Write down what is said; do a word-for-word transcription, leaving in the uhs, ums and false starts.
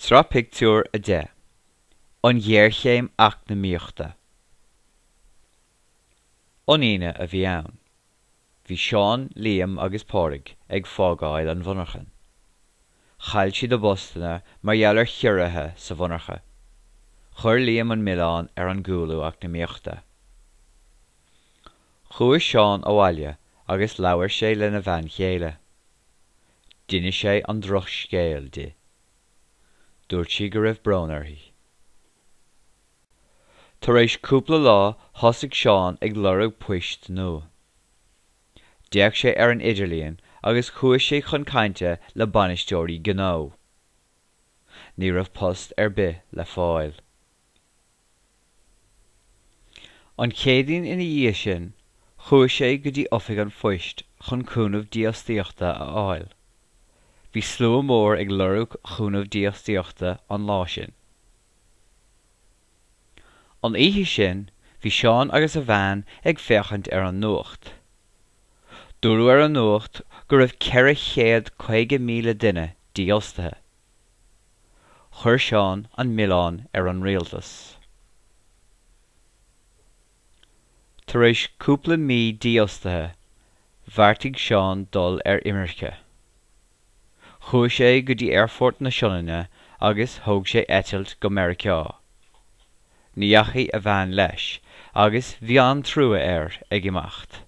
Sraith Pictiúr a deich An Ghéarchéim Eacnamaíochta An Aoine a bhí ann. Bhí Seán, Liam agus Pádraig ag fágáil an mhonarchan. Chaill siad a bpostanna mar gheall ar chiorruithe sa mhonarcha. Chuir Liam an milleán ar an gcúlú eacnamaíochta. Chuaigh Seán abhaile agus labhair sé lena bhean chéile. D'inis sé an drochscéal di. Dúirt sí go raibh brón uirthi. Tar éis cúpla lá thosaigh Seán ag lorg poist nua. D'fhéach sé ar an idirlíon agus chuaigh sé chun cainte le bainisteoirí gnó. Ní raibh post ar bith le fáil. An Chéadaoin ina dhiaidh sin, chuaigh sé go dtí oifig an phoist chun cúnamh dífhostaíochta a fháil. Bhí slua mór ag lorg chúnamh dífhostaíochta an lá sin. An oíche sin, bhí Seán agus a bhean ag féachaint ar an nuacht. Dúradh ar an nuacht go raibh ceithre chéad caoga míle duine dífhostaithe. Chuir Seán an milleán ar an rialtas. Tar éis cúpla mí dífhostaithe, bheartaigh Seán dul ar imirce. Chuaigh sé go dtí Aerfort na Sionainne agus thóg sé eitilt go Meiriceá. Ní dheachaigh a bhean leis agus bhí an-trua air ag imeacht.